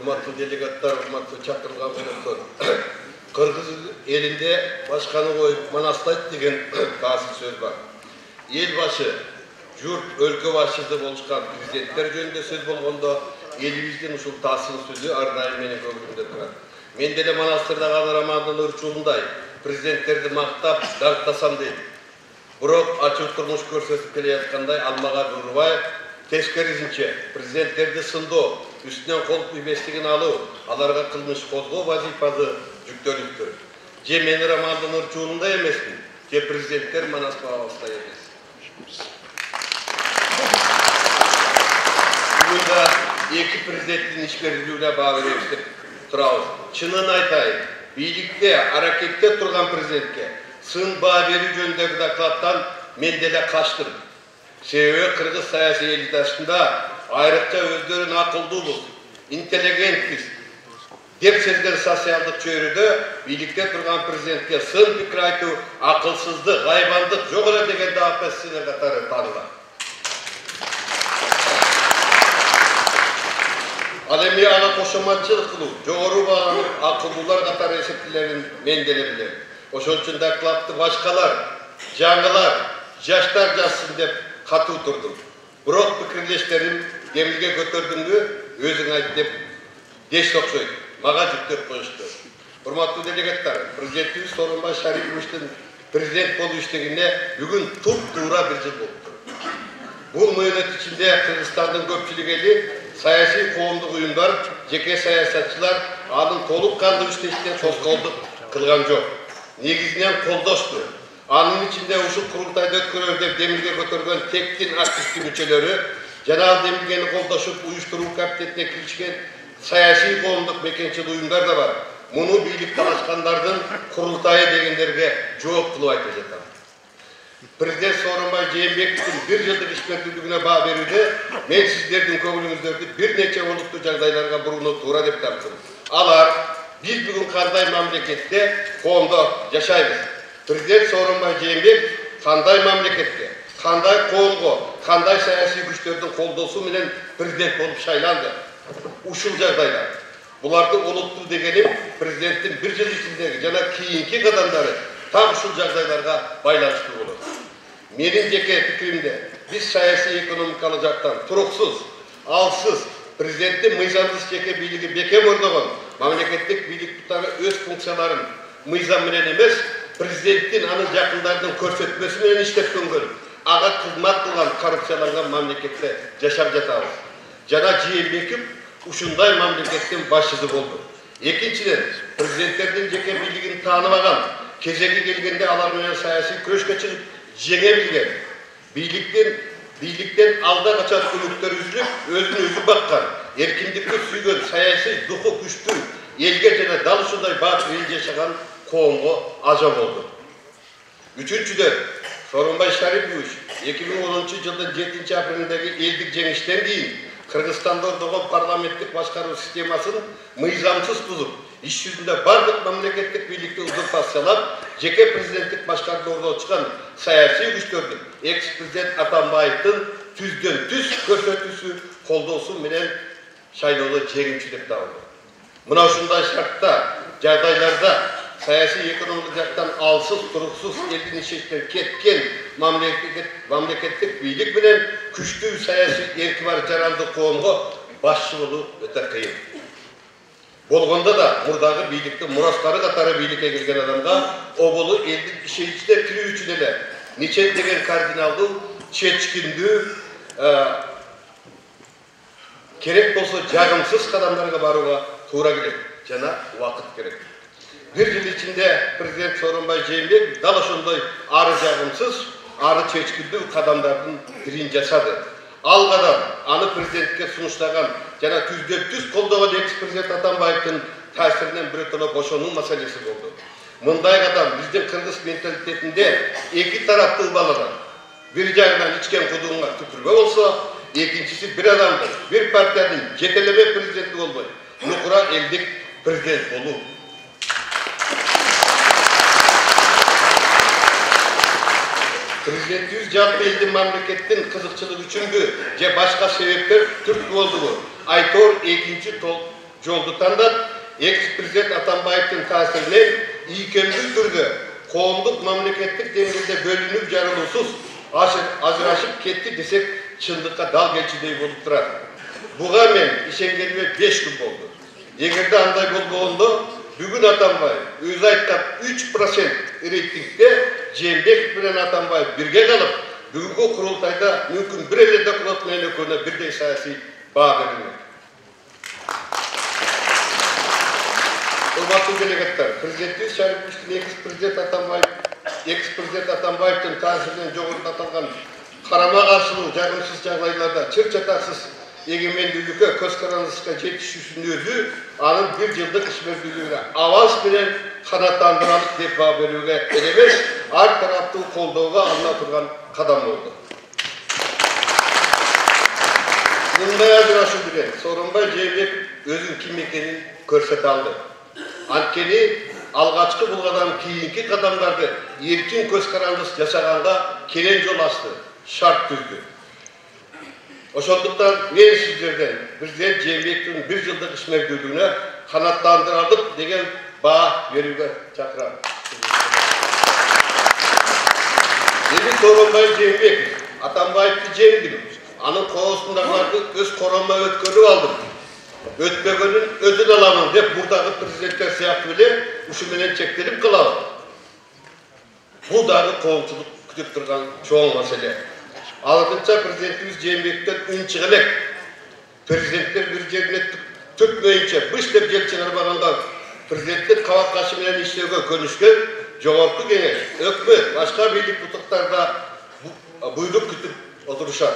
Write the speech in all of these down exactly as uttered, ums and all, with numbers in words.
урматтуу делегаттар, урматтуу чакырылган коноктор. Кыргыз элинде башканы коюп манастайт деген таасир сөз бар. Эл башы, журт, өлкө башчысы болушкан президенттер жөнүндө сөз болгондо элибиздин ушул таасир сөзү ар дайым менин көңүлүмдө турат. Мен деле Манастырда Рамандын ырчуулундай президенттерди мактап, даңктасам дейм. Бирок ачуу турмуш көрсөтүп келе жаткандай Алмага Бурбаев тескерисинче президенттерди сындоо, үстүнөн кол ийбестигин алуу, аларга кылмыш козгоо вазифасы жүктөлүптүр. Же мен Рамандын ырчуулундай эмесмин, же президенттер Манас бабабыздай эмес. Бүгүн эки президенттин ишкерлигине баа беребиз деп турабыз. Чынын айтайын, бийликте, аракетте турган президентке сын баа берүү жөнүндөгү докладтан мен деле качтым. Себеби кыргыз саясий элитасында айрыкча өздөрүн акылдуубуз, интеллигентпиз деп сезген социалдык чөйрөдө бийликте турган президентке сын пикир айтуу акылсыздык, айбандык жок эле деген да оппозиция катары таанылат. Ал эми ага кошоматчылык кылуу, жогору бааланып акылдуулар катары эсептелерин мен деле билем. Ошол үчүн докладты башкалар, жаңылар, жаштар жазсын деп катуу турдум. Бирок пикирлештерим демилге көтөрдүңбү, өзүң айт деп деш окшойт. Мага жүктөп коюшту. Урматтуу делегаттар, президентибиз Сооронбай Шариповичтин президент болуу иштегине бүгүн туп-туура бир жыл болуптур. Бул мөөнөт ичинде Кыргызстандын көпчүлүк эли саясий коомдук уюмдар, жеке саясатчылар анын толук кандуу иштешине тоскоолдук кылган жок. Негизинен колдошту. Анын ичинде ушул курултайды өткөрөбүз деп демилге көтөргөн тектин активдүү мүчөлөрү жана ал демилгени колдошуп уюштуруу капитетине киришкен саясий коомдук мекенчил уюмдар да бар. Муну бийлик талашкандардын курултайы дегендерге жооп кылып айтып жатам. Президент Сооронбай Жээнбековдун бир жылдык ишмердүүлүгүнө баа берүүдө мен сиздердин көңүлүңүздөрдү бир нече олуттуу жагдайларга бурууну туура деп таптым. Алар биз бүгүн кандай мамлекетте, коомдо жашайбыз? Президент Сооронбай Жээнбеков кандай мамлекетке, кандай коомго, кандай саясий күчтөрдүн колдоосу менен президент болуп шайланды? Ушул жагдайда булардын олуттуу дегеним президенттин бир жыл ичиндеги жана кийинки кадамдары так ушул жагдайларга байланыштуу болот. Менин жеке пикиримде биз саясий экономикалык жактан туруксуз, алсыз, президенттин мыйзамсыз жеке бийлиги бекем орногон мамлекеттик бийлик бутары өз функцияларын мыйзам менен эмес, президенттин анын жакындарынын көрсөтмөсү менен иштеткөнгөн, ага кызмат кылган коррупцияланган мамлекетте жашап жатабыз. Жана Жээнбеков ушундай мамлекеттин башчысы болду. Экинчиден, президенттердин жеке бийлигин тааныбаган, кезеги келгенде алар менен саясий күрөшкө чыгып жеңе билген, бийликтен бийликтен алда качан үмүттөр үзүлүп, өзүн өзү баккан, эркиндикти сүйгөн, саясий духу күчтүү, элге жана дал ушундай баатыр эл жашаган коомго ажа болду. Үчүнчүдөн, Сооронбай Шарипович эки миң онунчу жылдын жетинчи апрелиндеги элдик жеңиштен кийин Кыргызстанда орногон парламенттик башкаруу системасын мыйзамсыз бузуп, иш жүзүндө бардык мамлекеттик бийликти узурпациялап, жеке президенттик башкарууду орнотушкан саясий күчтөрдүн экс-президент Атамбаевдин түздөн түз көрсөтүүсү колдоосу менен шайлоодо жеңүүчү деп табылды. Мына ушундай шартта, жагдайларда саясий экономикалык жактан алсыз, туруксуз элдин ишечтен кеткен мамлекеттик мамлекеттик бийлик менен күчтүү саясий эрки бар жаранды коомго башчы болуу өтө кыйын. Болгондо да мурдагы бийликтин мурастары катары бийликке келген адамга оболу элдин ишеничине кирүү үчүн эле нече деген кардиналдуу, чечкиндүү, керек болсо жагымсыз кадамдарга барууга туура келет жана убакыт керек. Бир жыл ичинде президент Сооронбай Жээнбеков дал ошондой ары жагымсыз, ары чечкиндүү кадамдардын бирин жасады. Ал кадам аны президентке сунуштаган жана түздөн түз колдогон экс-президент Атамбаевдин таасиринен бирөтөлө бошонуу маселеси болду. Мындай кадам биздин кыргыз менталитетинде эки тараптуу баладан бир жагынан ичкен кудуңга түкүрбө болсо, экинчиси бир адамдын, бир партиянын жетелеме президенти болбой, нукура элдик президент болуу. Президентибиз жалпы элдин мамлекеттин кызыкчылыгы үчүнбү же башка себептер түрткү болдубу? Айтор экинчи жолду тандап, экс-президент Атамбаевдин таасиринен ийкемдүү түрдө коомдук мамлекеттик деңгээлде бөлүнүп жарылуусуз ажырашып кетти десек, чындыкка дал келчидей болуп турат. Буга мен ишенгениме беш күн болду. Эгерде андай болбогондо, бүгүн Атамбаев өзү айткан үч процент рейтингде Жээнбеков менен Атамбаев бирге калып, бүгүнкү курултайда мүмкүн бир эле доклад менен экөөнө бирдей саясий баа берилмек. Урматтуу делегаттар, президентибиз Шариповичтин экс-президент Атамбаев, экс-президент Атамбаевдин таасиринен жогоруда аталган карама-каршылуу жагымсыз жагдайларда чыр-чатаксыз эгемендүүлүккө көз карандырышка жетишүүсүнүн өзү анын бир жылдык ишмердүүлүгүнө аванс менен канааттандыралык деп баа берүүгө эмес, ар тараптуу колдоого алына турган кадам болду. Мындай ажырашуу менен Сооронбай Жээнбеков өзүнүн ким экенин көрсөтө алды. Анткени алгачкы булгадан кийинки кадамдарды эркин көз карандырыш жашаганга келен жол ачты, шарт түздү. Ошондуктан мен сиздерден президент Жээнбековдун бир жылдык ишмердүүлүгүнө канааттандыралык деген баа берүүгө чакырам. Эми Сооронбай Жээнбеков Атамбаевди жеңдим, анын коосундагыларды өз короомдо өткөрүп алдым. Өтпөгөнүн өзүн аламын деп мурдагы президенттер сыяктуу эле ушу менен чектелип калабы. Бул дагы коомчулук күтүп турган чоң маселе. Алынча президентибиз Жээнбековдон үн чыга элек. Президенттер бир жерине түртмөйүнчө быш деп жел чыгарбаганда президенттик кабак кашы менен иштөөгө көнүшкөн жогорку кеңеш, өкмөт, башка бийлик бутуктарда буйрук күтүп отурушат.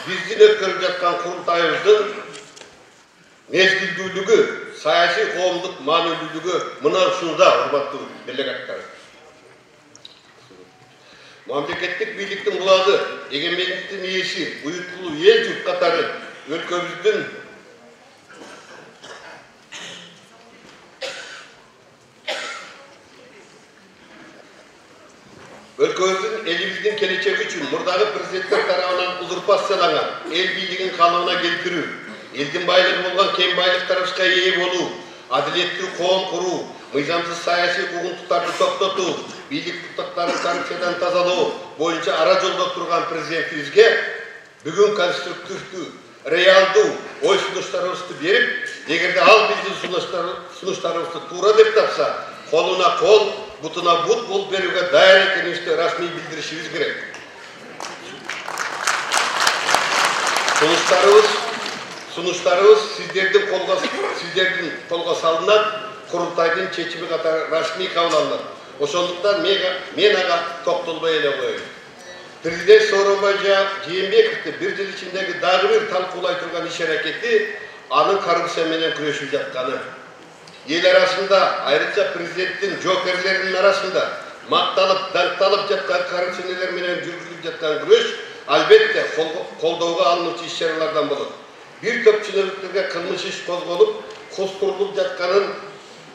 Биздин өткөрүп жаткан курултайыбыздын мезгилдүүлүгү, саясий коомдук маанилүүлүгү мына ушунда, урматтуу делегаттар. Мамлекеттик бийликтин булагы, эгемендиктин ээси, уюткулуу эл журт катары өлкөбүздүн өлкөбүздүн элибиздин келечеги үчүн мурдагы президенттер тарабынан узурпацияланган эл бийлигин калыбына келтирүү, элдин байлыгы болгон кен байлыктарыбызга ээ болуу, адилеттүү коом куруу, мыйзамсыз саясий куугунтуктарды токтотуу, бийлик бутактарын коррупциядан тазалоо боюнча ара жолдо турган президентибизге бүгүн конструктивдүү, реалдуу ой сунуштарыбызды берип, эгерде ал биздин сунуштарыбызды туура деп тапса, колуна кол, бутуна бут болуп берүүгө даяр экенибизди расмий билдиришибиз керек. Сунуштарыбыз Сунуштарыбыз сиздердин колго сиздердин колго салынат, курултайдын чечими катары расмий кабыл алынат. Ошондуктан мен ага токтолбой эле коеюн. Президент Сооронбай Жээнбековду бир жыл ичиндеги дагы бир талкуулай турган иш аракети анын коррупция менен күрөшүп жатканы. Эл арасында, айрыкча президенттин жоокерлеринин арасында макталып, даңкталып жаткан коррупционерлер менен жүргүзүлүп жаткан күрөш албетте колдоого алынуучу иш-чаралардан болот. Bir топ чиновниктерге кылмыш иш козголуп, костурулуп жатканын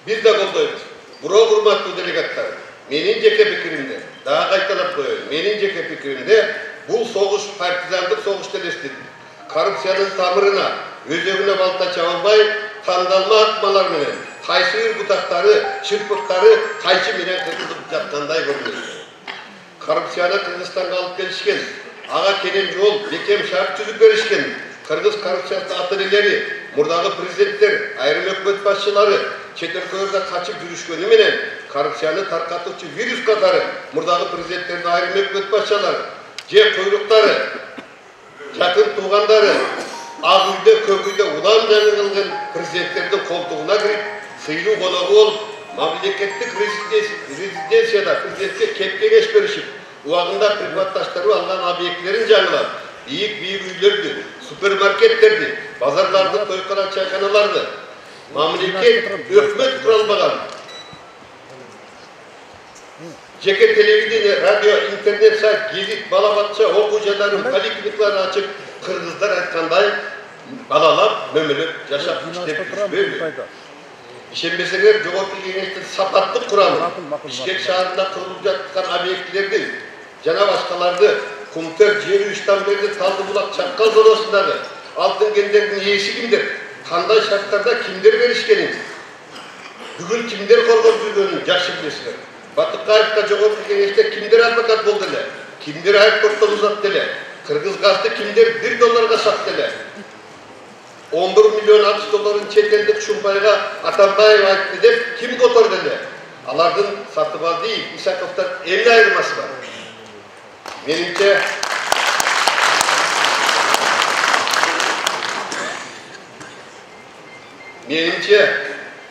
биз да колдойбуз. Бирок, урматтуу делегаттар, менин жеке пикиримде, дагы кайталап коеюн, менин жеке пикиримде бул согуш партизандык согуш элестет. Коррупциянын тамырына, өзөгүнө балта чабылбай, тандалма атмалар менен, кайсы бир бутактары, чырпыктары кайчы менен кыргызып жаткандай көрүнөт. Коррупцияны Кыргызстанга алып келишкен, ага келен жол, бекем шарт түзүп беришкен. Кыргыз коррупциясы атырелери, мурдагы президенттер, айрым өкмөт башчылары чет өлкөлөрдө качып жүрүшкөнү менен коррупцияны таркатуучу вирус катары мурдагы президенттердин айрым өкмөт башчылары же куйруктары, жакын туугандары, ак үйдө, көк үйдө улам жаңылган президенттердин колтугуна кирип, сыйлуу коногу болуп, мамлекеттик резиденцияда президентке кеп-кеңеш беришип, убагында приватташтырып алган объектилерин жаңылап, бийик-бийик үйлөрдү, супермаркеттерди, базарларды, тойкана чайканаларды, мамлекет өкмөт куралбаган, жеке телевидение, радио, интернет сайт, гезит, бала-бакча, окуу жайларын, поликлиникаларын ачып, кыргыздар айткандай балалап, мөмөлөп жашап иштеп жүрбөйбү? Ишенбесеңер, жогорку кеңештин сапаттык курамы, Бишкек шаарында курулуп жаткан объектилерди жана башкаларды, Кумтер, Жери, Иштанберди, Талдыбулак, Чаккал зоносундагы алтын кендердин ээси кимдер? кандай шарттарда кимдер беришкенин, бүгүн кимдер коргоп жүргөнүн жакшы билесиздер. Батыкаевка жогорку кеңеште кимдер адвокат болду эле, кимдер аэропорттон узатты эле, кыргыз газды кимдер бир долларга сатты эле. он бир миллион акч долларын чет элдик Шумбайга Атамбаев айтты деп ким которду эле? Алардын Сатыбалдиев, Исаковдон эмне айырмасы бар? Менимче Менимче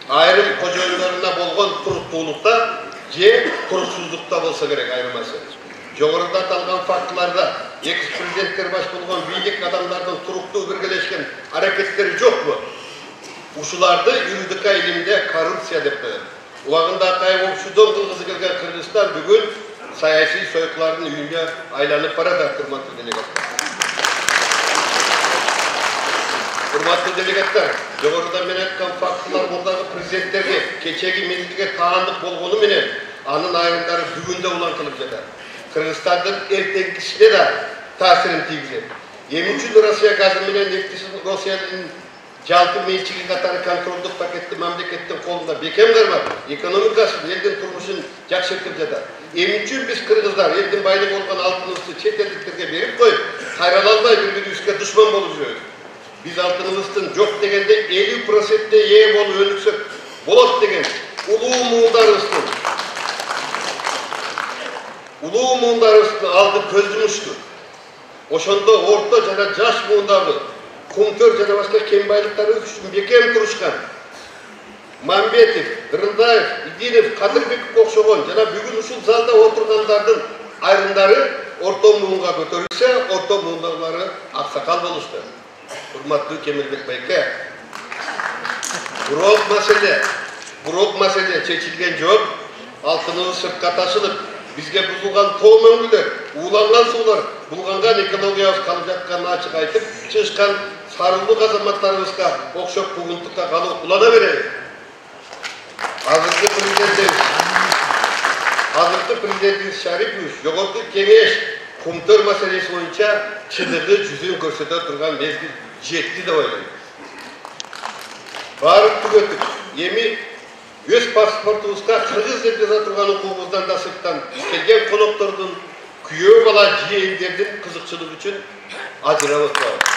айрым кожоюндарына болгон туруктуулукта же туруксуздукта болсо керек айырмасы. Жогоруда аталган фактыларда экс президенттер баш болгон бийлик адамдардын туруктуу биргелешкен аракеттери жокпу? Ушуларды юридика илиминде коррупция деп коет. Убагында Акаев опшудон кылгысы келген Кыргызстан бүгүн саясий сойкулардын үйүнө айланып барат, урматтуу делегаттар. Урматтуу делегаттар, жогоруда мен айткан фактылар мурдагы президенттерге кечеги мезгилге таандык болгону менен анын айрымдары бүгүн да улантылып жатат. Кыргызстандын эртеңкисине да таасирин тийгизет. Эмне үчүн Россия газы менен нефтисин Россиянын жалпы менчиги катары контролдук пакетти мамлекеттин колунда бекем кармап, экономикасын, элдин турмушун жакшыртып жатат. Эмне үчүн биз кыргыздар элдин байлыгы болгон алтыныбызды чет элдиктерге берип коюп, кайрала албай бири-бирибизге душман болуп жүрөбүз? Биз алтыныбыздын жок дегенде элүү процентке ээ болуп өнүксөк болот деген улуу муундарыбыздын улуу муундарыбыздын алды көз жумушту. Ошондо орто жана жаш муундагы кумтөр жана башка кен байлыктары үчүн бекем турушкан Мамбетов, Дырындаев, Идинов, Кадырбеков окшогон жана бүгүн ушул залда отургандардын айрымдары орто муунга көтөрүлсө, орто муундагылары аксакал болушту. Урматтуу Кемелбек байке, бирок маселе, бирок маселе чечилген жок. Алтыныбыз сыртка ташылып, бизге бузулган тоо мөңгүлөр, ууланган суулар, булганган экологиябыз калып жатканын ачык айтып, чыгышкан сарылдуу азаматтарыбызга окшоп бугунтукка калып улана берели. Азыркы президентибиз, азыркы президентибиз Шарипович жогорку кеңеш кумтөр маселеси боюнча чындыгы жүзүн көрсөтө турган мезгил жетти деп ойлойм. Баары түгөтүп, эми өз паспортубузга кыргыз деп жаза турган укугубуздан да сырттан келген коноктордун, күйөө бала жээндердин кызыкчылыгы үчүн ажырап отурабыз.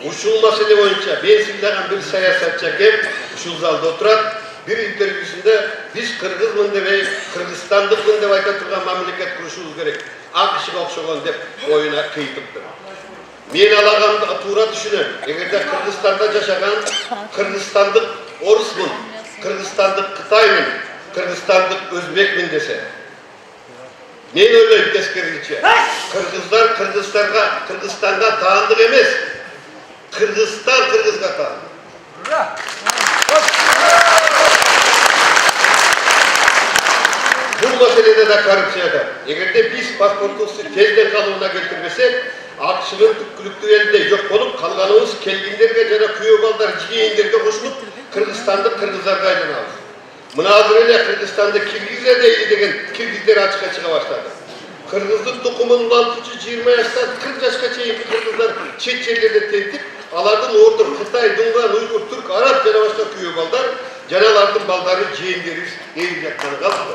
Ушул маселе боюнча мен сыйлаган бир саясатчы кеп ушул залда отурат. Бир интервьюсунда биз кыргызмын дебей, кыргызстандыкмын деп айта турган мамлекет курушубуз керек. АКШга окшогон деп оюна кыйтыптыр. Мен алаганды туура түшүнөм. Эгерде Кыргызстанда жашаган кыргызстандык орусмун, кыргызстандык кытаймын, кыргызстандык өзбекмин десе. Мен ойлойм тескерисинче. Кыргыздар Кыргызстанга, Кыргызстанга таандык эмес. Кыргызстан Кыргызга таандык. Бул маселеде да коррупция бар. Эгерде биз паспортубузду тезден калыбына келтирбесек, АКШнын түпкүлүктүү элинде жок болуп, калганыбыз келгиндерге жана күйөө балдар, жийендерге кошулуп, Кыргызстанды кыргыздарга айланабыз. Мына азыр эле Кыргызстанды Киргизия дейли деген киргиздер ачыкка чыга баштады. Кыргыздын тукумун улантуучу жыйырма жаштан кырк жашка чейинки кыргыздар чет жерлерде тентип, алардын ордур Кытай, Дунган, Уйгур, Түрк, Араб жана башка күйөө балдар, жана алардын балдары жээндерибиз ээлип жатканы калды.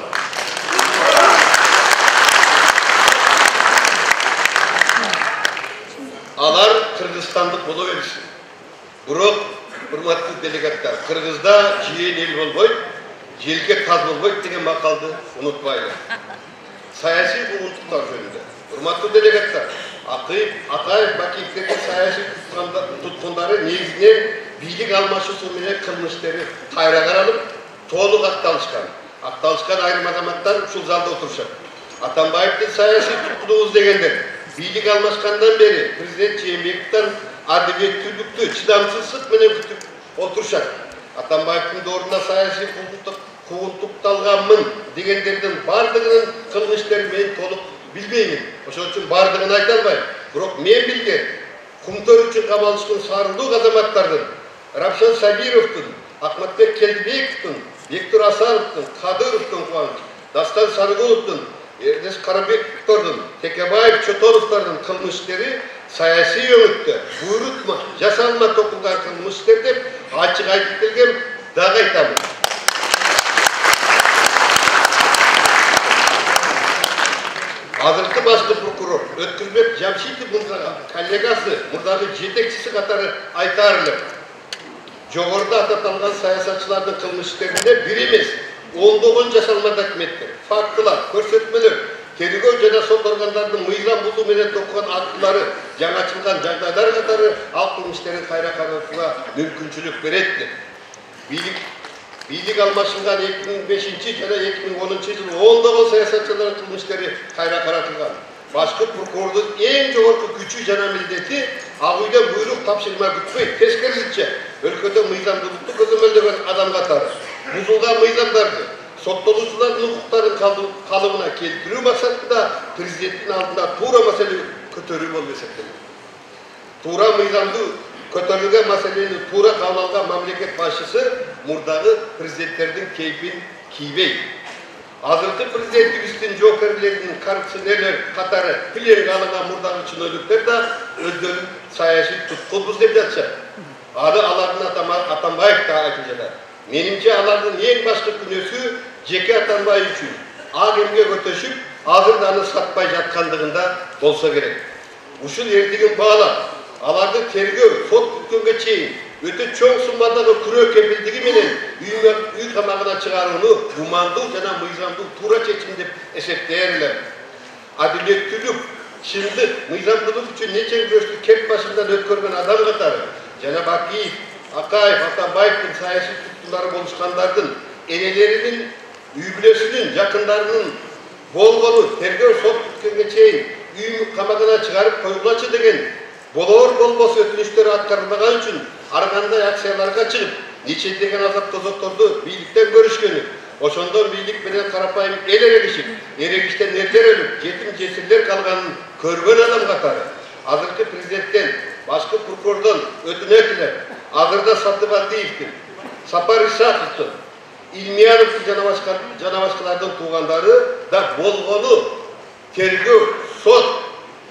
Алар кыргызстандык боло беришsin. Бирок, урматтуу делегаттар, Кыргызда жыйын эл болбойт, желке таз болбойт деген макалды унутпайлы. Саясий бугунтуктар жөнүндө. Урматтуу делегаттар, Акаев, Бакиевдерге саясий туткундары негизинен бийлик алмашуусу менен кылмыштары кайра каралып, толук акталышкан. Акталышкан айрым азаматтар ушул залда отурушат. Атамбаевдин саясий туткунубуз дегендер бийлик алмашкандан бери президент Жээнбековдон адилеттүүлүктү, чыдамсыздык менен күтүп отурушат. Атамбаевдин ордуна саясий куугунтукталганмын дегендердин бардыгынын кылмыштарын мен толук билбеймин. Ошон үчүн бардыгын айта албайм. Бирок мен билген кумтөр үчүн камалышкан сарылдуу азаматтардын, Рапшан Сабировдун, Акматбек Келдибековдун, Бектур Асановдун, Кадыровдун, Дастан Сарыгуловдун, Эрдес Карабековдордун, Текебаев, Чотоновдордун кылмыш иштери саясий өңүттө буйрутма, жасалма токулган кылмыш иштер деп ачык айтып келген, дагы айтамын. Азыркы башкы прокурор Өткүрбек Жамшитов мырзага коллегасы, мурдагы жетекчиси катары айтар элем. Жогоруда ататылган саясатчылардын кылмыш иштеринде бир эмес, ондогон жасалма документтер, фактылар, көрсөтмөлөр, тергөө жана сот органдарынын мыйзам бузуу менен токуган актылары жаңы ачылган жагдайлар катары ал кылмыш иштерин кайра кароого мүмкүнчүлүк берет деп. Бийлик бийлик алмашылган эки миң бешинчи жана эки миң онунчу жылы ондогон саясатчылардын кылмыш иштери кайра каратылган. Башкы прокурордун эң жогорку күчү жана милдети ак үйдөн буйрук тапшырма күтпөй, тескерисинче өлкөдө мыйзамдуулукту көзөмөлдөгөн адам катары бузулган мыйзамдарды соттолуучулардын укуктарын калыбына келтирүү максатында президенттин алдында туура маселе көтөрүү болуп эсептелет. Туура мыйзамды көтөрүлгөн маселени туура кабыл алган мамлекет башчысы мурдагы президенттердин кейпин кийбей. Азыркы президентибиздин жоокерлеринин коррупционерлер катары пленге алынган мурдагы чынөөлүктөр да өздөрүн саясий туткунбуз деп жатышат. Аны алардын Атамбаев да айтып жатат. Менимче алардын эң башкы күнөөсү жеке Атамбаев үчүн ак эмге көтөшүп, азыр аны сатпай жаткандыгында болсо керек. Ушул эрдигин баалап, аларды тергөө, сот бүткөнгө чейин өтө чоң суммадагы күрөө кепилдиги менен үй камагына чыгарууну гумандуу жана мыйзамдуу туура чечим деп эсептейер элем. Адилеттүүлүк, чындык, мыйзамдуулук үчүн нече күрөштү кеп башынан өткөргөн адам катары жана Бакиев, Акаев, Атамбаевдин саясий туткунлары болушкандардын энелеринин, үй бүлөсүнүн, жакындарынын болгону тергөө сот бүткөнгө чейин үй камагына чыгарып коюлачы деген болор болбос өтүнүчтөр аткарылбаган үчүн ар кандай акцияларга чыгып, нечедеген азап тозокторду бийликтен көрүшкөнү, ошондон бийлик менен карапайым эл эрегишип, эрегиштен эрлер өлүп, жетим жесирлер калганын көргөн адам катары азыркы президенттен, башкы прокурордон өтүнөт элем. Азырда Сатыбалдиевдин, Сапар Исаковдун, Илмияновдун жана башкалардын туугандары да болгону тергөө, сот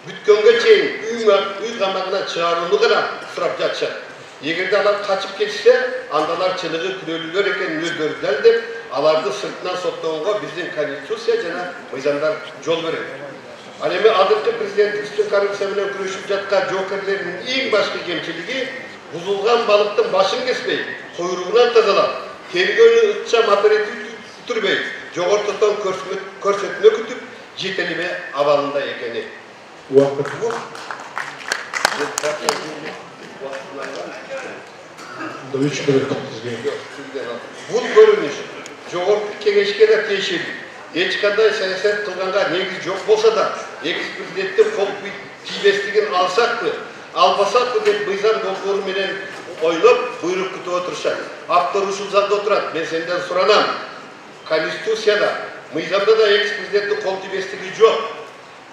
бүткөнгө чейин үй камагына чыгарууну гана сурап жатышат. Эгерде алар качып кетсе, анда алар чыныгы күнөөлүүлөр экенин өздөрү далилдеп, аларды сыртынан соттогонго биздин конституция жана мыйзамдар жол берет. Ал эми азыркы президентибиздин коррупция менен күрөшүп жаткан жоокерлердин эң башкы кемчилиги бузулган балыктын башын кеспей, куйругунан тазалап, тергөөнү ыкчам оператив бүтүрбөй, жогортодон көрсөтмө күтүп, жетелеме абалында экени. Убакыт Бул көрүнүш жогорку кеңешке да тиешелүү. Эч кандай саясат кылганга негиз жок болсо да, экс президенттин кол тийбестигин алсакпы, албасакпы деп мыйзам долбоору менен ойлоп, буйрук күтүп отурушат. Автор ушул залда отурат. Мен сенден суранам. Конституцияда, мыйзамда да экс президенттин кол тийбестиги жок.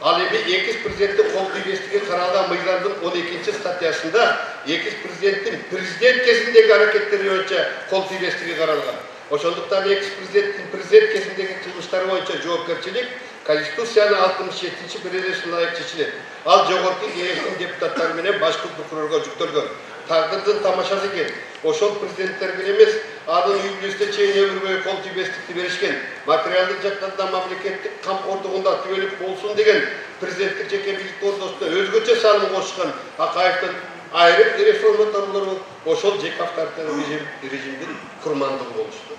Ал эми экс президенттин кол тийбестиги каралган мыйзамдын он экинчи статьясында экс президенттин президент кезиндеги аракеттери боюнча кол тийбестиги каралган. Ошондуктан экс президенттин президент кезиндеги кылмыштары боюнча жоопкерчилик Конституциянын алтымыш жетинчи беренесине ылайык чечилет. Ал жогорку кеңештин депутаттары менен башкы прокурорго жүктөлгөн. Тагдырдын тамашасы экен. Ошол президенттерге эмес, анын үй бүлөсүнө чейин өмүр бою кол тийбестикти беришкен. Материалдык жактан мамлекеттик камкордугунда түбөлүк болсун деген президенттик жеке бийлик ортосунда өзгөчө салым кошушкан Акаевдин айрым реформаторлору ошол жеке авторитарлык режимдин курмандыгы болушту.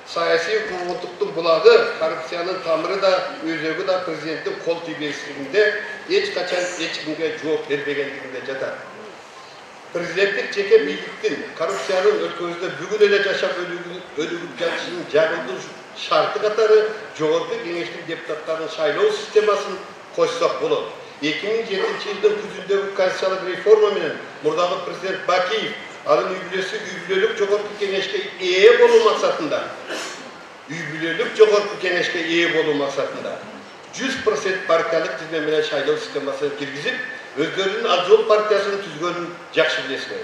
Саясий куугунтуктун булагы, коррупциянын тамыры да, өзөгү да президенттин кол тийбестигинде эч качан эч кимге жооп бербегендигинде жатат. Президенттик жеке бийликтин коррупциянын өлкөбүздө бүгүн эле жашап өнүгүп жатышынын жагымдуу шарты катары жогорку кеңештин депутаттарын шайлоо системасын кошсок болот. эки миң жетинчи жылдын күзүндөгү конституциялык реформа менен мурдагы президент Бакиев анын үй бүлөсү үй бүлөлүк жогорку кеңешке ээ болуу максатында үй бүлөлүк жогорку кеңешке ээ болуу максатында жүз процент партиялык тизме менен шайлоо системасын киргизип, өздөрүнүн Ак Жол партиясын түзгөнүн жакшы билесиңер.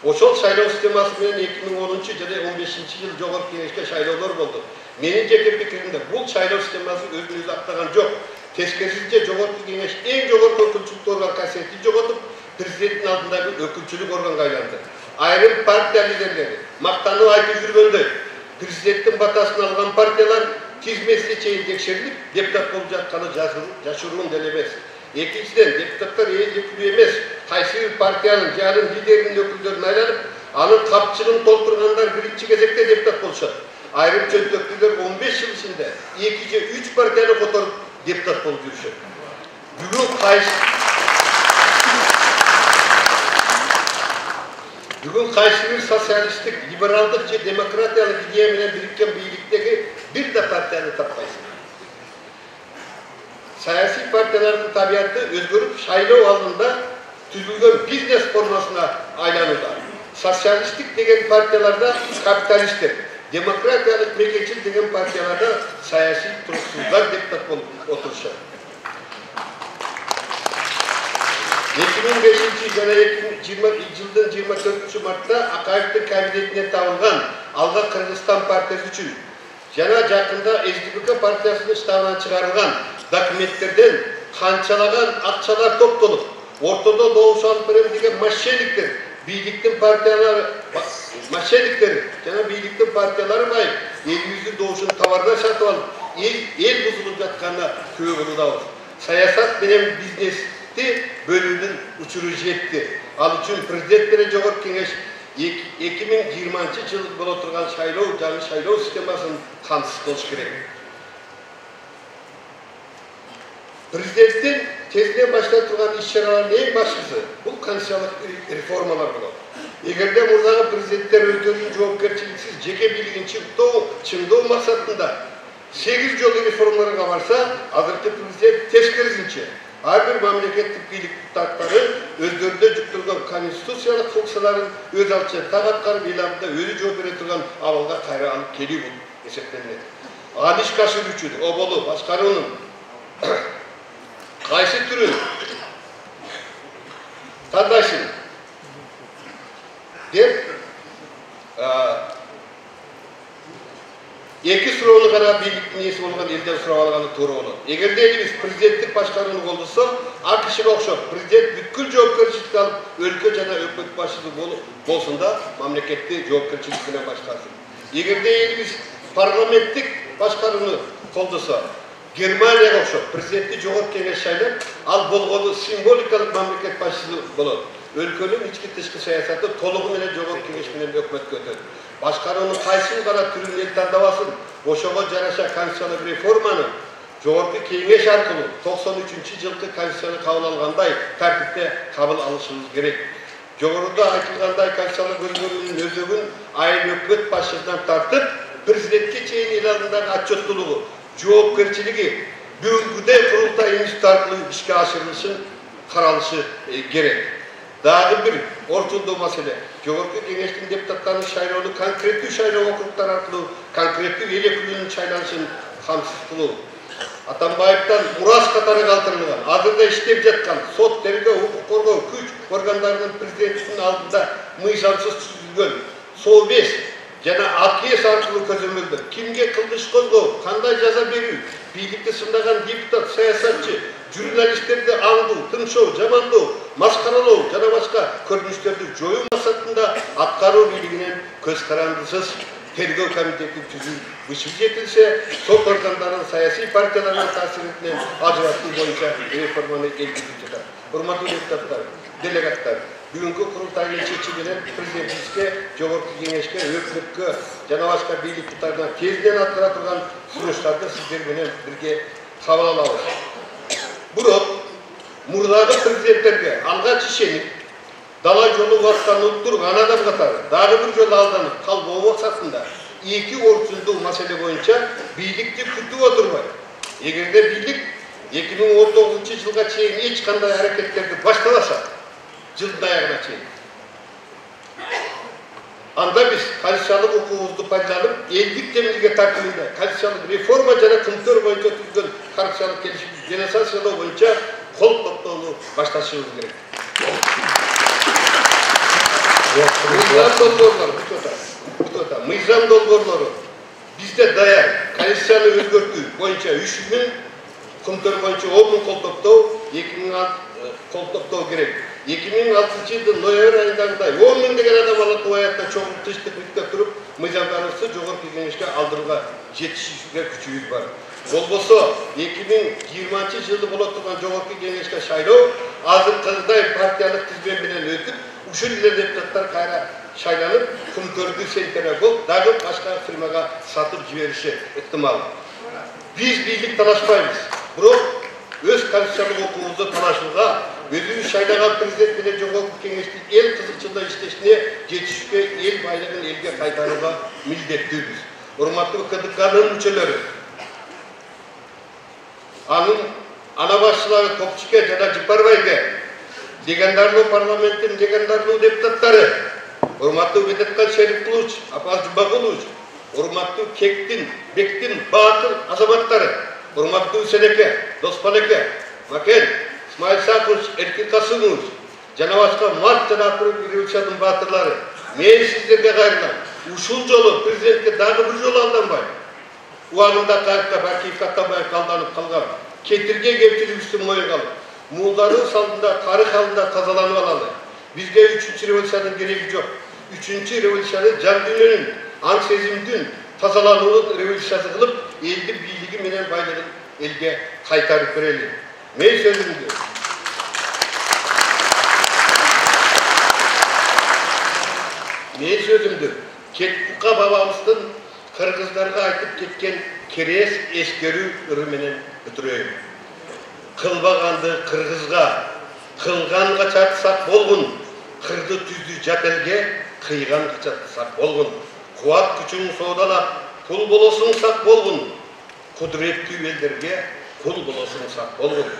Ошол шайлоо системасы менен эки миң онунчу жана он бешинчи жыл жогорку кеңешке шайлоолор болду. Менин жеке пикиримде бул шайлоо системасы өзүн өзү актаган жок. Тескерисинче жогорку кеңеш эң жогорку өкүлчүлүк орган касиетин жоготуп, президенттин алдындагы өкүлчүлүк органга айланды. Айрым партия лидерлери мактанып айтып жүргөндөй, президенттин батасын алган партиялар тизмесине чейин текшерилип, депутат болуп жатканы жашыруун деле эмес. Экинчиден, депутаттар элдикүү эмес, кайсы бир партиянын же анын лидеринин өкүлдөрүн айланып, анын капчыгын толтургандар биринчи кезекте депутат болушат. Айрым чөнтөктүүлөр он беш жыл ичинде эки же үч партияны которуп депутат болуп жүрүшөт. Бүгүн кайсы Бүгүн кайсы бир социалисттик, либералдык же демократиялык идея менен бириккен бийликтеги бир да партияны таппайсың. Саясий партиялардын табияты өзгөрүп, шайлоо алдында түзүлгөн бизнес формасына айланууда. Социалисттик деген партияларда капиталисттер, демократиялык мекенчил деген партияларда саясий туруксуздар депутат болуп отурушат. эки миң бешинчи жана жылдын жыйырма төртүнчү мартта Акаевдин кабинетине табылган Алга Кыргызстан партиясы үчүн жана жакында эс ди пе ка партиясынын штабынан чыгарылган документтерден канчалаган акчалар топтолуп, ортодо добуш алып берем деген мошенниктер, бийликтин партиялары, мошенниктер жана бийликтин партиялары байып, элибиздин добушун товарда сатып алып, эл бузулуп жатканына күбө болудабыз. Саясат менен бизнести бөлүүнүн учуру жетти. Ал үчүн президент менен жогорку кеңеш эки миң жыйырманчы жыл боло турган шайлоо, жаңы шайлоо системасын камсыз кылыш керек. Президенттин тезинен баштай турган иш-чаралардын эң башкысы бул конституциялык реформалар болот. Эгерде мурдагы президенттер өздөрүнүн жоопкерчиликсиз жеке бийлигин чыңдоо максатында сегиз жолу реформаларга барса, азыркы президент тескерисинче ар бир мамлекеттик бийлик тактары өздөрүнө жүктөлгөн конституциялык функцияларын өз алдынча так аткарып, эл алдында өзү жооп бере турган абалга кайра алып келүү болуп эсептелет. Аны ишке ашыруу үчүн оболу башкаруунун кайсы түрүн тандайсың деп эки суроону гана бийликтин ээси болгон элден сурап алганы туура болот. Эгерде элибиз президенттик башкарууну колдосо, АКШга окшоп президент бүткүл жоопкерчиликти алып, өлкө жана өкмөт башчысы болсун да, мамлекетти жоопкерчилик менен башкарсын. Эгерде элибиз парламенттик башкарууну колдосо, Германияга окшоп президентти жогорку кеңеш шайлап, ал болгону символикалык мамлекет башчысы болот. Өлкөнүн ички тышкы саясаты толугу менен жогорку кеңеш менен өкмөткө өтөт. Башкаруунун кайсы гана түрүн эл тандабасын, ошого жараша конституциялык реформаны жогорку кеңеш аркылуу токсон үчүнчү жылкы конституцияны кабыл алгандай тартипте кабыл алышыбыз керек. Жогоруда айтылгандай конституциялык өзгөрүүнүн өзөгүн айыл өкмөт башчысынан тартып, президентке чейин эл алдындагы отчеттуулугу, жоопкерчилиги бүгүнкүдөй курултай институт аркылуу ишке ашырылышын каралышы керек. Дагы бир орчундуу маселе, жогорку кеңештин депутаттарын шайлоону конкреттүү шайлоо округтары аркылуу конкреттүү эл өкүлүнүн шайланышын камсыз кылуу. Атамбаевден мурас катары калтырылган, азырда иштеп жаткан сот, тергөө, укук коргоо, күч органдарынын президенттин алдында мыйзамсыз түзүлгөн совбез жана АКС аркылуу көзөмөлдөө кимге кылмыш козгоо, кандай жаза берүү, бийликти сындаган депутат, саясатчы, журналисттерди аңдуу, тынчоо, жамандоо, маскаралоо жана башка көрүнүштөрдү жоюу максатында аткаруу бийлигинен көз карандысыз тергөө комитети түзүү бышып жетилсе, сот органдарынын саясий партияларынын таасиринен ажыратуу боюнча реформаны элгизип жатат. Урматтуу депутаттар, делегаттар, бүгүнкү курултайдын чечими менен президентибизге, жогорку кеңешке, өкмөткө жана башка бийлик кутарына тезинен аткара турган сунуштарды сиздер менен бирге кабыл алабыз. Бирок мурдагы президенттерге алгач ишенип, дала жолу баскан улуттук анадам катары дагы бир жолу алданып калбоо максатында эки орчундуу маселе боюнча бийликти күтүп отурбай, эгерде бийлик эки миң он тогузунчу жылга чейин эч кандай аракеттерди баштабаса, жылдын аягына чейин, анда биз конституциялык укугубузду пайдаланып, элдик демилге тартибинде конституциялык реформа жана кымтөр боюнча түзүлгөн конституциялык келишимди денонсациялоо боюнча кол топтоону башташыбыз керек. Мыйзам долбоорлору, мыйзам долбоорлору Бизде даяр Конституцияны өзгөртүү боюнча үч миң, күнтөр боюнча он миң кол топтоо, эки миң кол топтоо керек. эки миң алтынчы жылдын ноябрь айындагыдай он миң деген адам алып аятта чоң тынчтык бүткө туруп, мыйзамдарыбызды жогорку кеңешке алдырууга жетишүүгө күчүбүз бар. Болбосо эки миң жыйырманчы жылы боло турган жогорку кеңешке шайлоо азыркыдай партиялык тизме менен өтүп, ушул эле депутаттар кайра шайланып, күнтөрдү сентере болуп, дагы башка фирмага сатып жибериши ыктымал. Биз бийлик талашпайбыз. Бирок өз конституциялык укугубузду талашууга, өзүбүз шайлаган президент менен жогорку кеңештин эл кызыкчылыгында иштешине жетишүүгө, эл байлыгын элге кайтарууга милдеттүүбүз. Урматтуу КДКнын мүчөлөрү, анын ана башчылары Топчуке жана Жыпарбайге, легендарный парламенттин легендарный депутаттары, урматтуу Бедеткан Шерикулович, Апаз Жумагулович, урматтуу Кектин, Бектин баатыр азаматтары, урматтуу Сенеке, Доспанеке, Макен, Исмаил Сакыч, Эркин Касымович, жана башка март жана апрель революциянын баатырлары, мен сиздерге кайрылам. Ушул жолу президентке дагы бир жолу алданбай, убагында Кайыкка Бакиев Атабаев алданып калган, кетирген кемчилигибизди моюнга алып, муулдардын алдында, тарых алдында тазаланып алалы. Бизге үчүнчү революциянын кереги жок. Үчүнчү революцияны жан дүйнөнүн, аң сезимдин тазалануунун революциясы кылып, элдин бийлиги менен байлыгын элге кайтарып берели. Мен сөзүмдү Мен сөзүмдү Кетбукка бабамыздын кыргыздарга айтып кеткен керес эскерүү ыры менен бүтүрөйүн. Кылбаганды кыргызга, кылган качатсак болгун, кырды түздү жат элге, кыйган качатсак болгун. Кубат күчүн соодалап, кул болосуң сак болгун. Кудуреттүү элдерге кул болосуң сак болгун.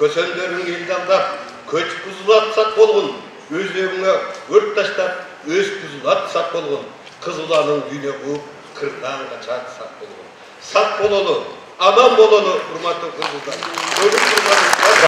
Көсөндөрүң элди алдап, көч бузулатсак болгун. Өзүңө өрт таштап, өз бузулатсак болгун. Кызыланын дүйнө кууп, кырдан качатсак болгун. Сак бололу, аман бололу, урматтуу кыргыздар.